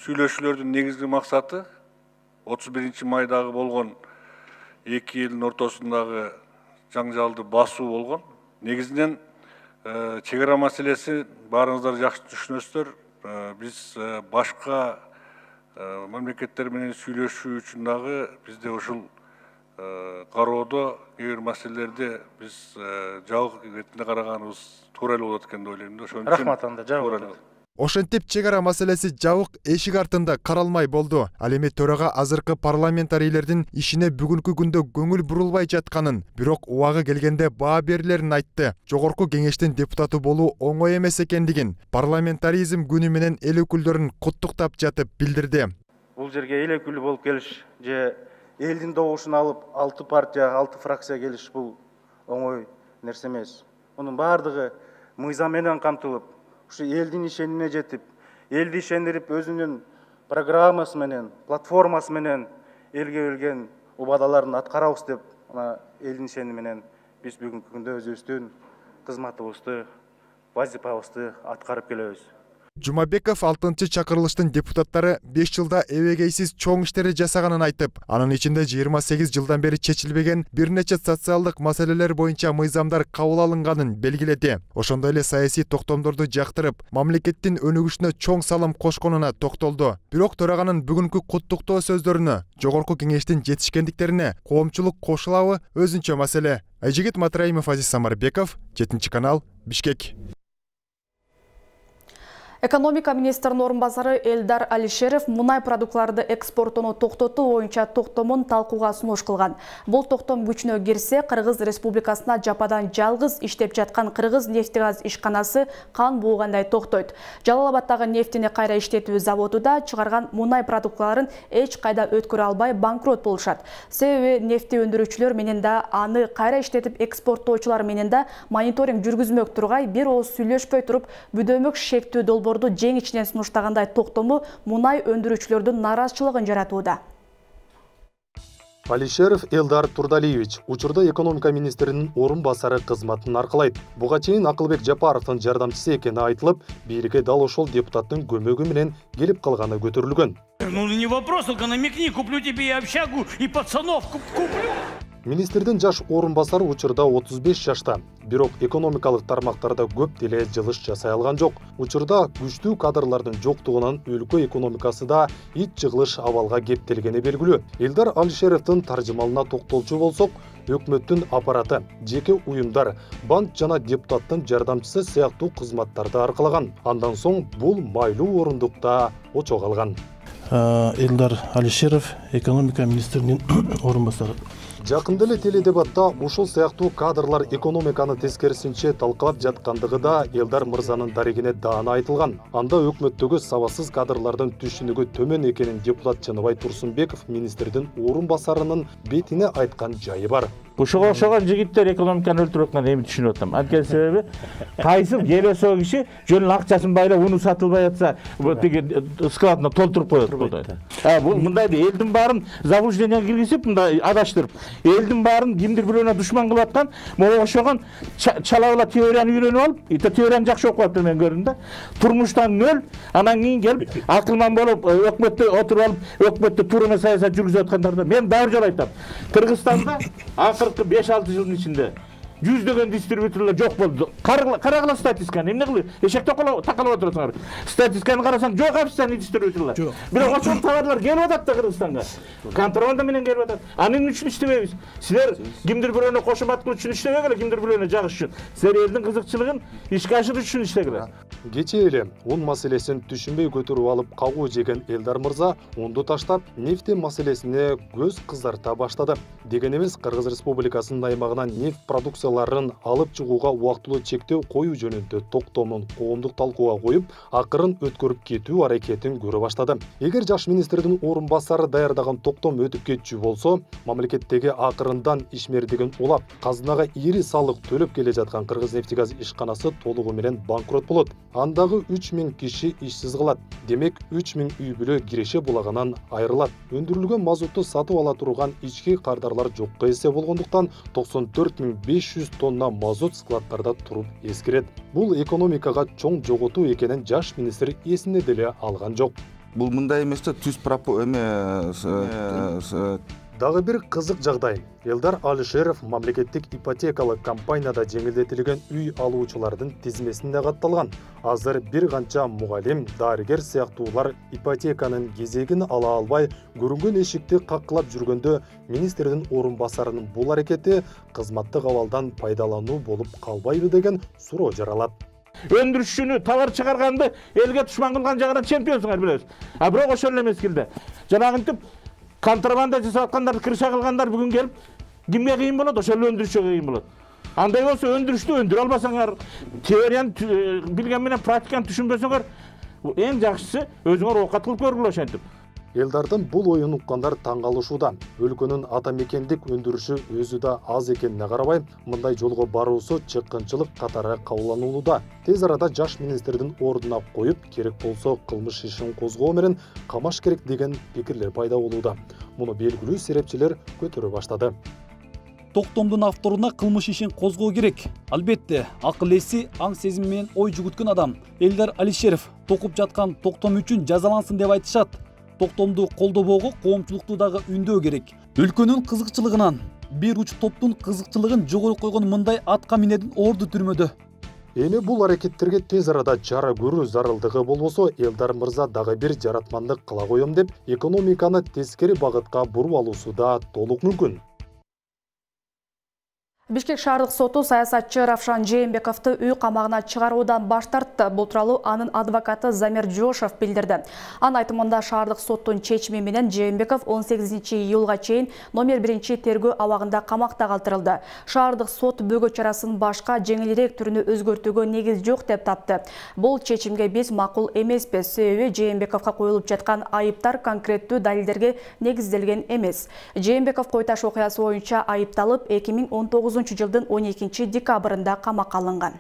сүйлөшүүлөрдүн негизги максаты отуз биринчи майдагы болгон эки элдин ортосундагы жаңжалды басуу болгон. Негизинен чек ара маселеси баарыңыздар жакшы түшүнөсүздөр. Биз башка мамлекеттер менен сүйлөшүү үчүн дагы бизде ушул кароодо кээ бир маселелерди биз жабык иретинде караганыбыз туура эле болот экен деп ойлойм да. Ошон үчүн рахмат анда жабык. Ошентип чек ара маселеси жабык эшик артында каралмай болду. Ал эми төрага азыркы парламентарийлердин ишине бүгүнкү күндө көңүл бурулбай жатканын, бирок убагы келгенде баа берилерин айтты. Жогорку кеңештин депутаты болуу оңой эмес экендигин парламентаризм күнү менен эл өкүлдөрүн куттуктап жатып билдирди. Бул жерге эл өкүлү болуп келиш же элдин добушун алып алты партия, алты фракция келиш бул оңой нерсе эмес. Мунун баардыгы мыйзам менен камтылып, ушу элдин ишенимине жетип, элди ишендирип, өзүнүн программасы менен, платформасы менен элге берген убадаларын аткарабыз деп, мына элдин ишеними менен биз бүгүнкү күндө өзүбүздүн кызматыбызды, вазифабызды аткарып келебиз. Жумабеков алтынчы чакырылыштын депутаттары беш жылда эбегейсиз чоң иштери жасаганын айтып, анын ичинде жыйырма сегиз жылдан бери чечилбеген бир нече социалдык маселелер боюнча мыйзамдар кабыл алынганын белгиледи. Ошондой эле саясий токтомдорду жактырып, мамлекеттин өнүгүшүнө чоң салым кошконуна токтолду. Бирок төраганын бүгүнкү куттуктоо сөздөрүнө, жогорку кеңештин жетишкендиктерине коомчулук кошулабы өзүнчө маселе. Айжигит Матраимов, Азиз Самарбеков, жетинчи канал, Бишкек. Экономика министринин орун басары Элдар Алишеров мунай продуктларды экспортоону токтотуу боюнча токтомун талкууга сунуш кылган. Бул токтом күчүнө кирсе, Кыргыз Республикасына жападан жалгыз иштеп жаткан Кыргыз нефтегаз ишканасы кан буугандай токтойт. Жалал Абаддагы нефтини кайра иштетүү заводу да чыгарган мунай продуктларын эч кайда өткөрө албай банкрот болушат. Себеби нефти өндүрүүчүлөр менен да аны кайра иштетип экспорттоочулар менен да мониторинг жүргүзмөк тургай бир ооз сүйлөшпөй туруп бүдөмөк шектүү долбоорду жең ичинен сунуштагандай токтому мунай өндүрүүчүлөрдүн нааразычылыгын жаратууда. Алишеров Элдар Турдалиевич учурда экономика министринин орун басары кызматын аркалайт. Буга чейин Акылбек Жапаровдун жардамчысы экени айтылып, бийликке дал ошол депутаттын көмөгү менен келип калганы көтөрүлгөн. Ну не вопрос, только намекни, куплю тебе и общагу, и пацанов куплю. Министрдин жаш орун басары учурда отуз беш жашта, бирок экономикалык тармактарда көп деле жылыш жасай алган жок. Учурда күчтүү кадрлардын жоктугунан өлкө экономикасы да ич жыгылыш абалга кептелгени белгилүү. Элдар Алишеровдун таржымалына токтолчу болсок, өкмөттүн аппараты, жеке уюмдар, банк жана депутаттын жардамчысы сыяктуу кызматтарды аркалаган. Андан соң бул майлуу орундукта очо калган. Элдар Алишеров экономика министринин орун басары. Жакында эле теледебатта ушул сыяктуу кадрлар экономиканы тескерисинче талкалап жаткандыгы да Элдар мырзанын дарегине даана айтылган. Анда өкмөттөгү сабатсыз кадрлардын түшүнүгү төмөн экенин депутат Чыныбай Турсунбеков министрдин орун басарынын бетине айткан жайы бар. Ушуга окшогон жигиттер экономиканы өлтүрүп аткан эми түшүнүп атам. Анткени себеби кайсы келесо киши жөн акчасын байлап уну сатылбай атса, тиги складына толтуруп коет болду. А бул мындай элдин баарын заблужденияга киргизип, мындай адаштырып, элдин баарын кимдир бирөөнө душман кылып аткан, могу окшогон чалабыла теорияны үйрөнүп алып, ите теорияны жакшы окуп атты мен көрдүм да. Турмуштан нөл, анан кийин келип акылман болуп, өкмөттө отуруп алып, өкмөттө туура саясат жүргүзүп аткандарда мен дагы жолу айтам. Кыргызстанда акыркы беш алты жылдын ичинде жүздөгөн дистрибьюторлор жок болду. Карагыла статистиканы, эмне кылып? Эшекте такалып отурсуңар. Статистиканы карасаң жок официальный дистрибьюторлор. Бирок ошол товарлар келип атат да Кыргызстанга. Контрабанда менен келип атат. Анын үчүн иштебейбиз. Силер кимдир бирөөнө кошумат кылыш үчүн иштебегиле, кимдир бирөөнө жагыш үчүн. Силер элдин кызыкчылыгын ишке ашырыш үчүн иштегиле. Кечээ эле ун маселесин түшүнбөй көтөрүп алып кагуу жеген Элдар мырза унду таштап, нефти маселесине көз кызарта баштады. Деген эмес, Кыргыз Республикасынын аймагынан нефть продукцияларын алып чыгууга убактылуу чектөө коюу жөнүндө токтомун коомдук талкууга коюп, акырын өткөрүп кетүү аракетин көрө баштады. Эгер жаш министрдин орун басары даярдаган токтом өтүп кетчү болсо, мамлекеттеги акырындан ишмердигин улап, казынага ири салык төлөп келе жаткан Кыргыз нефтегаз ишканасы толугу менен банкрот болот. Андагы үч миң киши ишсиз калат. Демек үч миң үй бүлө киреше булагынан айрылат. Өндүрүлгөн мазутту сатып ала турган ички кардарлар жокко эсе болгондуктан токсон төрт миң беш жүз тонна мазут складтарда туруп эскирет. Бул экономикага чоң жоготуу экенин жаш министр эсине деле алган жок. Бул мындай эмес да түз пропо эме Дагы бир кызык жагдай. Элдар Алишеров мамлекеттик ипотекалык компанияда жеңилдетилген үй алуучулардын тизмесинде катталган. Азыр бир канча мугалим, дарыгер сыяктуулар ипотеканын кезегин ала албай, көрүнгөн эшикти каккылап жүргөндө министрдин орун басарынын бул аракети кызматтык абалдан пайдалануу болуп калбайбы деген суроо жаралат. Өндүрүшчүнү товар чыгарганды элге душман кылган жагынан чемпионсуңар билебиз. А бирок ошол эле мезгилде жанагынтип контрабанда жасап аткандар, кырша кылгандар бүгүн келип кимге кыйын болот? Ошол эле өндүрүшчүгө кыйын болот. Андай болсо өндүрүштү өндүрө албасаңар, теорияны билген менен практиканы түшүнбөсөңөр, эң жакшысы өзүңөр оокат кылып көргүлө ошентип. Элдардын бул оюн уккандар таң калышууда. Өлкөнүн ата мекендик өндүрүшү өзү да аз экенине карабай, мындай жолго баруусу чыккынчылык катары кабылданууда. Тез арада жаш министрдин ордуна коюп, керек болсо кылмыш ишин козгоо менен камаш керек деген пикирлер пайда болууда. Муну белгилүү серепчилер көтөрө баштады. Токтомдун авторуна кылмыш ишин козгоо керек. Албетте, акыл эси, аң сезим менен ой жүгүткөн адам Элдар Алишеров токуп жаткан токтом үчүн жазалансын деп айтышат. Токтомду колдобоого коомчулукту дагы үндөө керек. Өлкөнүн кызыкчылыгынан, бир уч топтун кызыкчылыгын жогору койгон мындай атка минердин орду түрмөдө. Эми бул аракеттерге тез арада чара көрүү зарылдыгы болбосо, Элдар мырза дагы бир жаратмандык кыла коем деп, экономиканы тескери багытка буруп алуусу да толук мүмкүн. Бишкек шаардык соту саясатчы Равшан Жээнбековду үй камагына чыгаруудан баш тартты. Бул тууралуу анын адвокаты Замир Жошев билдирди. Анын айтымында шаардык соттун чечими менен Жээнбеков он сегизинчи июлга чейин номер биринчи тергөө абагында камакта калтырылды. Шаардык сот бөгө чарасын башка жеңилирээк түрүнө өзгөртүүгө негиз жок деп тапты. Бул чечимге биз макул эмеспиз, себеби Жээнбековго коюлуп жаткан айыптар конкреттүү далилдерге негизделген эмес. Жээнбеков Кой Таш окуясы боюнча айыпталып эки миң он тогузунчу жылдын он экинчи декабрында камакка алынган.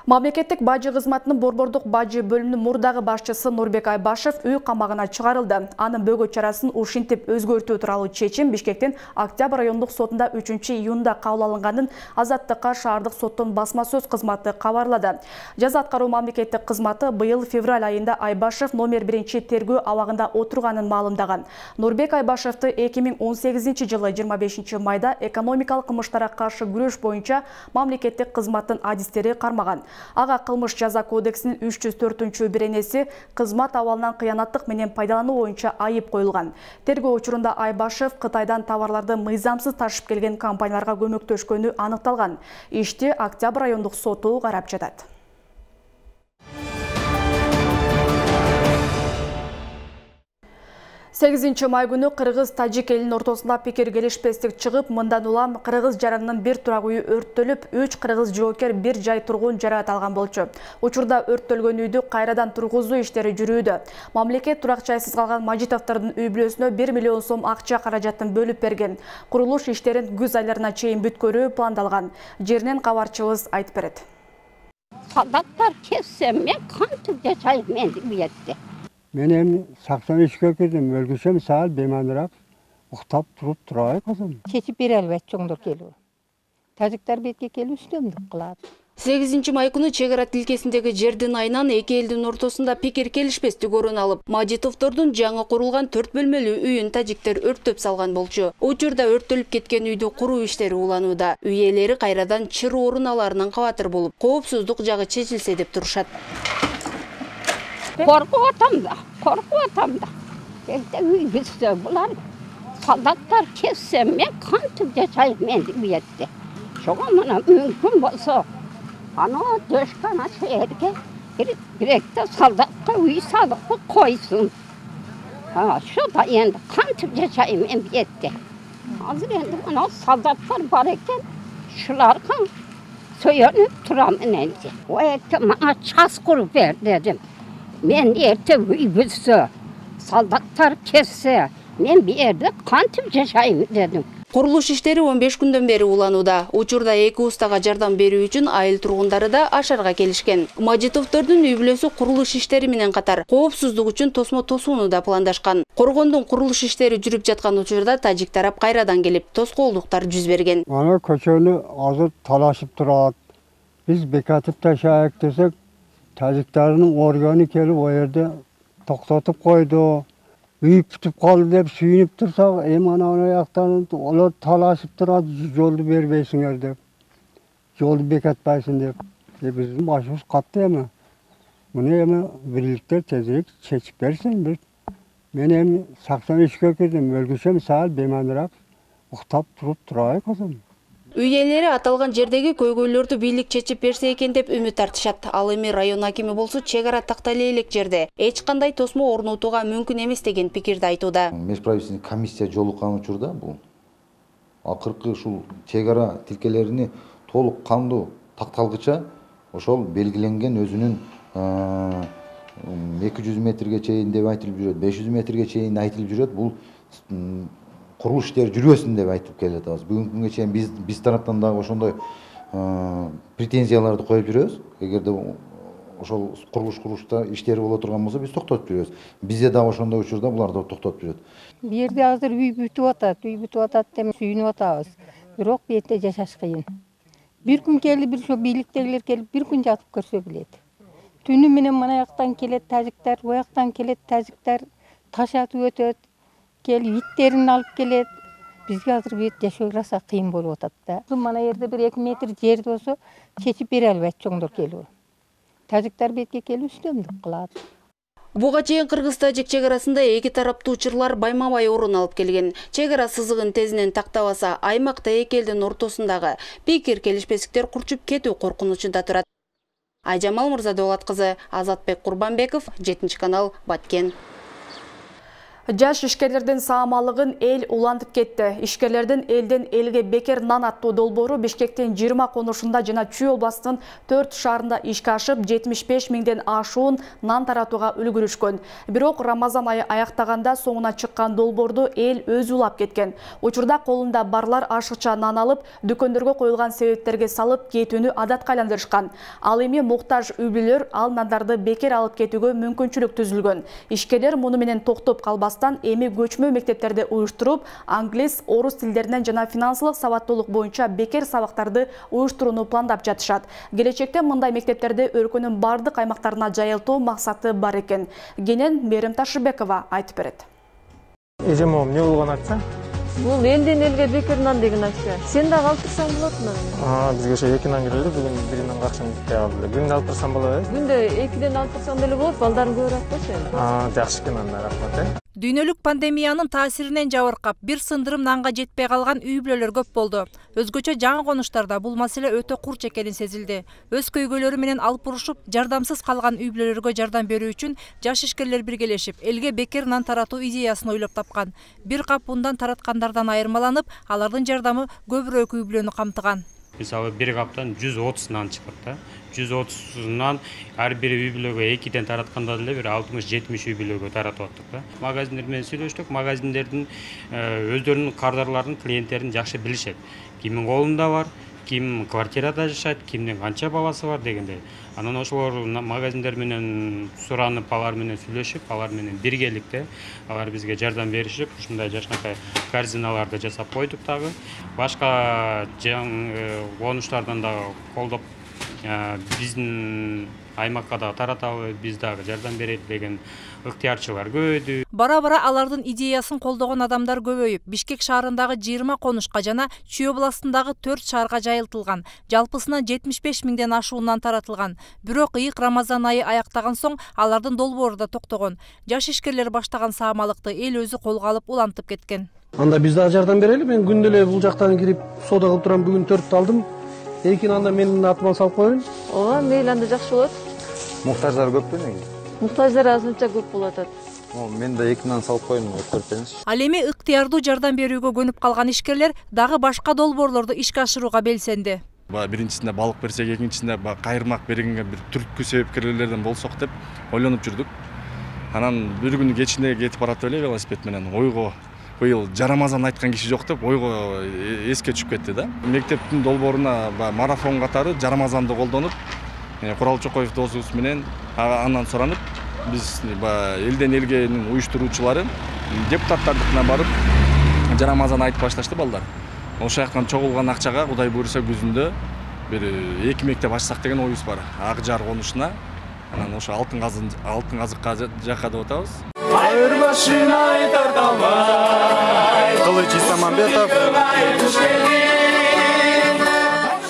Мамлекеттик бажы кызматынын Борбордук бажы бөлүмүнүн мурдагы башчысы Нурбек Айбашев үй камагына чыгарылды. Анын бөгө чарасын ушинтип өзгөртүү тууралуу чечим Бишкектин Октябрь райондук сотунда үчүнчү июнда кабыл алынганын Азаттыкка шаардык соттун басма сөз кызматы кабарлады. Жаза аткаруу мамлекеттик кызматы быйыл февраль айында Айбашев номер биринчи тергөө абагында отурганын маалымдаган. Нурбек Айбашевди эки миң он сегизинчи жылы жыйырма бешинчи майда экономикалык кылмыштарга каршы күрөш боюнча мамлекеттик кызматтын адистери кармаган. Ага кылмыш жаза кодексинин үч жүз төртүнчү беренеси кызмат абалынан кыянаттык менен пайдалануу боюнча айып коюлган. Тергөө учурунда Айбашев Кытайдан товарларды мыйзамсыз ташып келген компанияларга көмөктөшкөнү аныкталган. Ишти Октябрь райондук соту карап жатат. сегизинчи май күнү кыргыз-тажик элинин ортосунда пикир келишпестик чыгып, мындан улам кыргыз жаранынын бир турак үйү өрттөлүп, үч кыргыз жоокер бир жай тургун жараат алган болчу. Учурда өрттөлгөн үйдү кайрадан тургузуу иштери жүрүүдө. Мамлекет турак жайсыз калган Мажитовдордун үй бүлөсүнө бир миллион сом акча каражатын бөлүп берген. Курулуш иштерин күз айларына чейин бүткөрүү пландалган. Жеринен кабарчыбыз айтып берет. Солдаттар кетсе, мен кантип жашайм менди уятты. Мен эми саксон үчкө кирдим, өлгүсөм саал беймандырап уктап туруп турабай калдым. Чечип бере албайт чоңдор келип. Тажиктар бетке келип үстөмдүк кылат. сегизинчи май күнү чек ара тилкесиндеги жердин айынан эки элдин ортосунда пикир келишпестик орун алып, Мажитовдордун жаңы курулган төрт бөлмөлүү үйүн тажиктер өрттөп салган болчу. Учурда өрттөлүп кеткен үйдү куруу иштери уланууда. Үй ээлери кайрадан чыр орун аларынан кабатыр болуп, коопсуздук жагы чечилсе деп турушат. Korkup atam da, korkup atam da. Evde üyüzse bular soldatlar kesse men kantip yaşayım men uyette. Şoğa bana mümkün bolsa ana döşkana şehirge direkte soldatka uy salıp koysun. Ha şu da endi kantip yaşayım men uyette. Hazır endi ana soldatlar var eken şularga soyunup turam endi. O ette bana ças kurup ver dedim. Men erte büyüse, soldatlar kesse, men bir yerde kantip yaşayım dedim. Курулуш иштери он беш күндөн бери уланууда. Учурда эки устага жардам берүү үчүн айыл тургундары да ашарга келишкен. Мажитовдордун үй бүлөсү курулуш иштери менен катар коопсуздук үчүн тосмо тосууну да пландашкан. Коргондун курулуш иштери жүрүп жаткан учурда тажик тарап кайрадан келип тоскоолдуктар жүз берген. Ана көчөнү азыр талашып турат. Биз бекатып ташайык десек, тажиктардын органы келип о жерде токтотуп койду. Үй бүтүп калды деп сүйүнүп турсак, эми анан аяктан олар талашып турат, жолду бербейсиңер деп. Жолду бекатпайсың деп. Е биздин башыбыз катты эми. Муну эми бирликтер тезирээк чечип берсин бир. Мен эми саксон үчкө кирдим, өлгүсөм саал беймандырап уктап туруп турабай калдым. Үй ээлери аталган жердеги көйгөйлөрдү бийлик чечип берсе экен деп үмүт артышат. Ал эми район акими болсо чек ара тактале элек жерде эч кандай тосмо орнотууга мүмкүн эмес деген пикирди айтууда. Межправительственный комиссия жолуккан учурда бул акыркы ушул чек ара тилкелерини толук кандуу такталгыча ошол белгиленген өзүнүн эки жүз метрге чейин деп айтылып жүрөт, беш жүз метрге чейин айтылып жүрөт. Бул курулуш иштери жүрбөсүн деп айтып келатабыз. Бүгүнкү күнгө чейин биз биз тараптан дагы ошондой претензияларды коюп жүрөбүз. Эгерде ошол курулуш курулушта иштери боло турган болсо биз токтотуп жүрөбүз. Бизде дагы ошондой учурда буларды токтотуп жүрөт. Бу жерде азыр үй бүтүп атат, үй бүтүп атат деп сүйүнүп атабыз. Бирок бу жерде жашаш кыйын. Бир күн келип, бир ошо бийликтегилер келип, бир күн жатып көрсө билет. Түнү менен мына жактан келет тажиктар, у жактан келет тажиктар, ташатып өтөт. Келип иттерин алып келет. Бизге азыр бу жерде жашоо раса кыйын болуп атат да. Мына жерде бир эки метр жер болсо чечип бере албайт чоңдор келип. Тажиктар бетке келип үстөмдүк кылат. Буга чейин Кыргыз-Тажик чек арасында эки тараптуу учурлар байма-бай орун алып келген. Чек ара сызыгын тезинен тактабаса, аймакта эки элдин ортосундагы пикир келишпестиктер курчуп кетүү коркунучунда турат. Айжамал Мырзадолат кызы, Азатбек Курбанбеков, жетинчи канал, Баткен. Жаш ишкерлердин саамалыгын эл улантып кетти. Ишкерлердин элден элге бекер нан аттуу долбоору Бишкектин жыйырма конушунда жана Чүй областынын төрт шаарында ишке ашып, жетимиш беш миңден ашуун нан таратууга үлгүрүшкөн. Бирок Рамазан айы аяктаганда соңуна чыккан долбоорду эл өзү улап кеткен. Учурда колунда барлар ашыкча нан алып, дүкөндөргө коюлган себептерге салып кетүүнү адатка айландырышкан. Ал эми муктаж үй бүлөлөр ал нандарды бекер алып кетүүгө мүмкүнчүлүк түзүлгөн. Ишкерлер муну менен токтоп калбастан эми көчмө мектептерди уюштуруп, англис, орус тилдеринен жана финансылык сабаттуулук боюнча бекер сабактарды уюштурууну пландап жатышат. Келечекте мындай мектептерди өлкөнүн бардык аймактарына жайылтуу максаты бар экен. Кенен Мерим Ташыбекова айтып берет. Эжем эмне болгон акча? Бул элден элге бекер нан деген акча. Сен дагы алып турсаң болот мына. А, бизге ошо эки нан келди, бүгүн бир нан акчаны кетти алды. Күндө алып турсам болот, э? Күндө экиден алып турсаң деле болот, балдарың көбүрөөк болсо эми. А, жакшы экен анда, рахмат, э? Дүйнөлүк пандемиянын таасиринен жабыркап, бир сындырым нанга жетпей калган үй бүлөлөр көп болду. Өзгөчө жаңы конуштарда бул маселе өтө курч экени сезилди. Өз көйгөйлөрү менен алып урушуп, жардамсыз калган үй бүлөлөргө жардам берүү үчүн жаш ишкерлер биргелешип, элге бекер нан таратуу идеясын ойлоп тапкан. Бир кап ундан тараткандардан айырмаланып, алардын жардамы көбүрөөк үй бүлөнү камтыган. Мисалы бир каптан жүз отуз нан чыгат да. жүз отузунан ар бир үй бүлөгө экиден таратканда деле бир алтымыш жетимиш үй бүлөгө таратып аттык да. Магазиндер менен сүйлөштүк. Магазиндердин өздөрүнүн кардарларын, клиенттерин жакшы билишет. Кимдин колунда бар, ким квартирада жашайт, кимдин канча баласы бар дегендей. Анан ошолор магазиндер менен суранып, алар менен сүйлөшүп, алар менен биргеликте алар бизге жардам беришип, ушундай жашнакай корзиналарды жасап койдук дагы. Башка конуштардан дагы колдоп биздин аймакка да таратабы, биз дагы жардам берели деген ыктыярчылар көбөйдү. Бара-бара алардын идеясын колдогон адамдар көбөйүп, Бишкек шаарындагы жыйырма конушка жана Чүй областындагы төрт шаарга жайылтылган. Жалпысынан жетимиш беш миңден ашуунан таратылган. Бирок ыйык Рамазан айы аяктаган соң алардын долбоору да токтогон. Жаш ишкерлер баштаган саамалыкты эл өзү колго алып улантып кеткен. Анда биз дагы жардам берели. Мен күндө эле бул жактан кирип соода кылып турам. Бүгүн төрттү алдым. Экини анда менин атыма салып коеюн. Ооба, мейли, анда жакшы болот. Муктаждар көппү неге? Муктаждар азырынча көп болуп атат. Мен да эки нан салып коеюн, көрсөңүз. Ал эми ыктыярдуу жардам берүүгө көнүп калган ишкерлер дагы башка долбоорлорду ишке ашырууга белсенди. Биринчисинде балык берсек, экинчисинде кайырмак бергенге бир түрткү себепкерлерден болсок деп ойлонуп жүрдүк. Анан бир күнү кечинде кетип баратып эле велосипед менен ойго быйыл жарамазан айткан киши жок деп ойго эске түшүп кетти да. Мектептин долбооруна марафон катары жарамазанды колдонуп, Курал Чокоев досубуз менен андан суранып, биз элден элгенин уюштуруучулары депутаттардыкына барып жарамазан айтып башташты балдар. Ошол жактан чогулган акчага Кудай буйруса күзүндө бир эки мектеп ачсак деген оюбуз бар. Ак Жар конушуна, анан ошо алтын казын алтын казыкка жакка деп атабыз. Айырбашын айтар талбай, Кылыч Исамамбетов.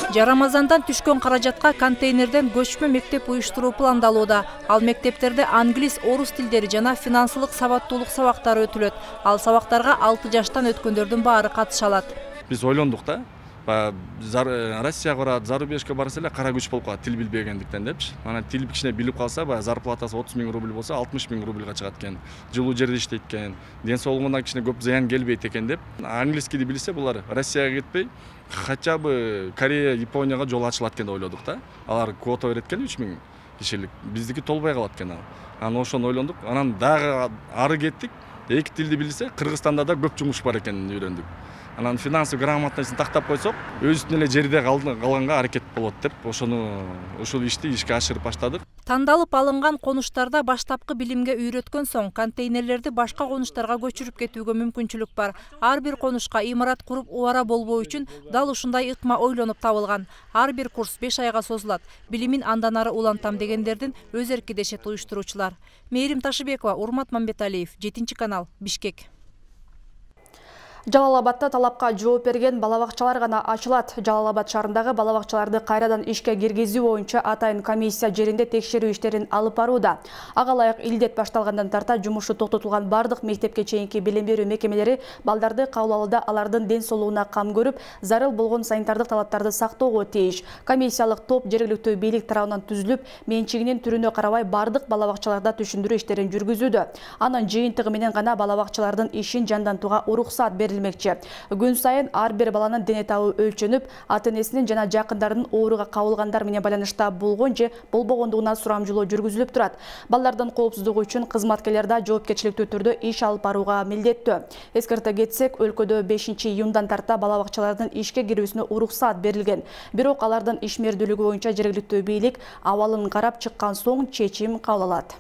Жарамазандан түшкөн каражатка контейнерден көчмө мектеп уюштуруу пландалууда. Ал мектептерде англис, орус тилдери жана финансылык сабаттуулук сабактары өтүлөт. Ал сабактарга алты жаштан өткөндөрдүн баары катыша алат. Биз ойлондук да. Россияга барат, зарубежге барса эле кара күч болуп калат тил билбегендиктен депчи. Анан тил кичине билип калса, баягы зарплатасы отуз миң рубль болсо, алтымыш миң рубльга чыгат экен. Жылуу жерде иштейт экен. Ден соолугуна кичине көп зыян келбейт экен деп. Английскийди билсе, булар Россияга кетпей, хотя бы Корея, Японияга жол ачылат экен деп ойлодук да. Алар квота берет экен үч миң кишилик. Биздики толбой калат экен ал. Анан ошону ойлондук. Анан дагы ары кеттик. Эки тилди билсе, Кыргызстанда да көп жумуш бар экенин үйрөндүк. Анан финансовый грамотностун тактап койсок, өзүнүн эле жерде калганга аракет болот деп, ошону ушул ишти ишке ашырып баштадык. Тандалып алынган конуштарда баштапкы билимге үйрөткөн соң контейнерлерди башка конуштарга көчүрүп кетүүгө мүмкүнчүлүк бар. Ар бир конушка имарат куруп убара болбоо үчүн дал ушундай ыкма ойлонуп табылган. Ар бир курс беш айга созулат. Билимин андан ары улантам дегендердин өз эрки дешет уюштуруучулар. Мээрим Ташыбекова, Урмат Мамбеталиев, жетинчи канал, Бишкек. Жалал Абадта талапка жооп берген балабакчалар гана ачылат. Жалал Абад шаарындагы балабакчаларды кайрадан ишке киргизүү боюнча атайын комиссия жеринде текшерүү иштерин алып барууда. Ага ылайык илдет башталгандан тарта жумушу токтотулган бардык мектепке чейинки билим берүү мекемелери балдарды кабыл алууда алардын ден соолугуна кам көрүп, зарыл болгон санитардык талаптарды сактоого тийиш. Комиссиялык топ жергиликтүү бийлик тарабынан түзүлүп, менчигинин түрүнө карабай бардык балабакчаларда түшүндүрүү иштерин жүргүзүүдө. Анын жыйынтыгы менен гана балабакчалардын ишин жандантууга уруксат берилмек. Күн сайын ар бир баланын дене табы өлчөнүп, ата-энесинин жана жакындарынын ооруга кабылгандар менен байланышта болгон же болбогондугуна сурамжылоо жүргүзүлүп турат. Балдардын коопсуздугу үчүн кызматкерлер да жоопкерчиликтүү түрдө иш алып барууга милдеттүү. Эскерте кетсек, өлкөдө бешинчи июндан тарта балабакчалардын ишке кирүүсүнө уруксат берилген. Бирок алардын ишмердүүлүгү боюнча жергиликтүү бийлик абалын карап чыккан соң чечим кабыл алат.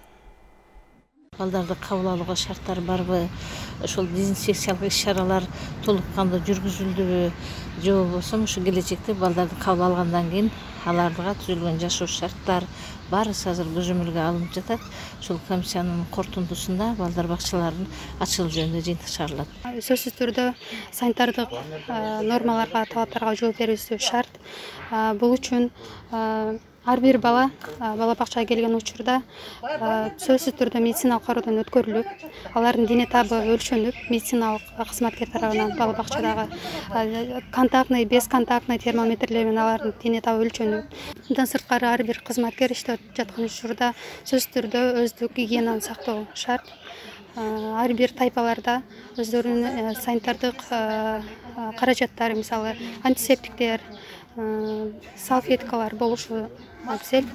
Балдарды кабыл алууга шарттар барбы, ошол дезинфекциялык иш-чаралар толук кандуу жүргүзүлдүбү, же болбосо ушу келечекте балдарды кабыл алгандан кийин аларга түзүлгөн жашоо шарттар баарысы азыр көзөмөлгө алынып жатат. Ушул комиссиянын корутундусунда балдар бакчаларынын ачылуу жөнүндө жыйынтык чыгарылат. Сөзсүз түрдө санитардык нормаларга, талаптарга жооп берүүсү шарт. Бул үчүн ар бир бала балабакчага келген учурда сөзсүз түрдө медициналык кароодон өткөрүлүп, алардын дене табы өлчөнүп, медициналык кызматкер тарабынан балабакчадагы контактный, бесконтактный термометрлер менен алардын дене табы өлчөнүп. Мындан сырткары ар бир кызматкер иштеп жаткан учурда сөзсүз түрдө өздүк гигиенаны сактоо шарт. Ар бир тайпаларда өздөрүнүн санитардык каражаттары, мисалы антисептиктер, салфеткалар болушу абзел.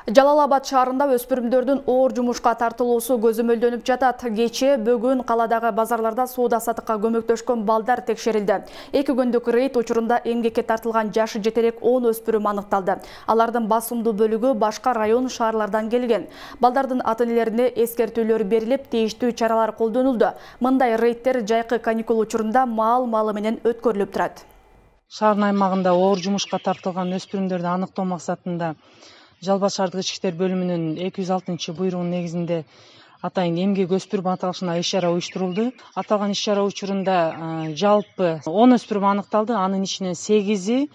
Жалал Абад шаарында өспүрүмдөрдүн оор жумушка тартылуусу көзөмөлдөнүп жатат. Кечээ бүгүн каладагы базарларда соода сатыкка көмөктөшкөн балдар текшерилди. Эки күндүк рейд учурунда эмгекке тартылган жашы жетерек он өспүрүм аныкталды. Алардын басымдуу бөлүгү башка район шаарлардан келген. Балдардын ата-энелерине эскертүүлөр берилип, тийиштүү чаралар колдонулду. Мындай рейдтер жайкы каникул учурунда маал-малы менен өткөрүлүп турат. Шаардын аймагында оор жумушка тартылган өспүрүмдөрдү аныктоо максатында Жалал шаардык ички иштер бөлүмүнүн эки жүз алтынчы буйругунун негизинде атайын эмгек өспүрүм аталышына иш-чара уюштурулду. Аталган иш-чара учурунда жалпы он өспүрүм аныкталды. Анын ичинен сегизи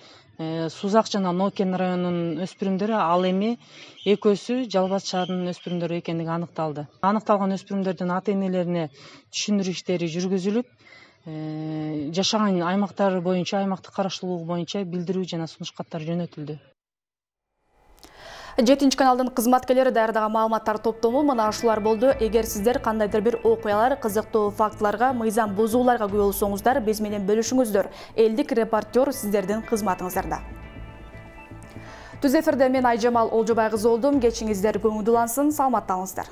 Сузак жана Нокен районунун өспүрүмдөрү, ал эми экөөсү Жалал шаарынын өспүрүмдөрү экендиги аныкталды. Аныкталган өспүрүмдөрдүн ата-энелерине түшүндүрүү иштери жүргүзүлүп, жашаган аймактары боюнча, аймактык караштуулугу боюнча билдирүү жана сунуш каттары жөнөтүлдү. жетинчи каналдын кызматкерлери даярдаган маалыматтар топтому мына ушулар болду. Эгер сиздер кандайдыр бир окуялар, кызыктуу фактыларга, мыйзам бузууларга күбө болсоңуздар, биз менен бөлүшүңүздөр. Элдик репортер сиздердин кызматыңыздарда. Түз эфирде мен Айжамал Олжобай кызы болдум. Кечиңиздер көңүлдүүлансын, саламаттаныңыздар.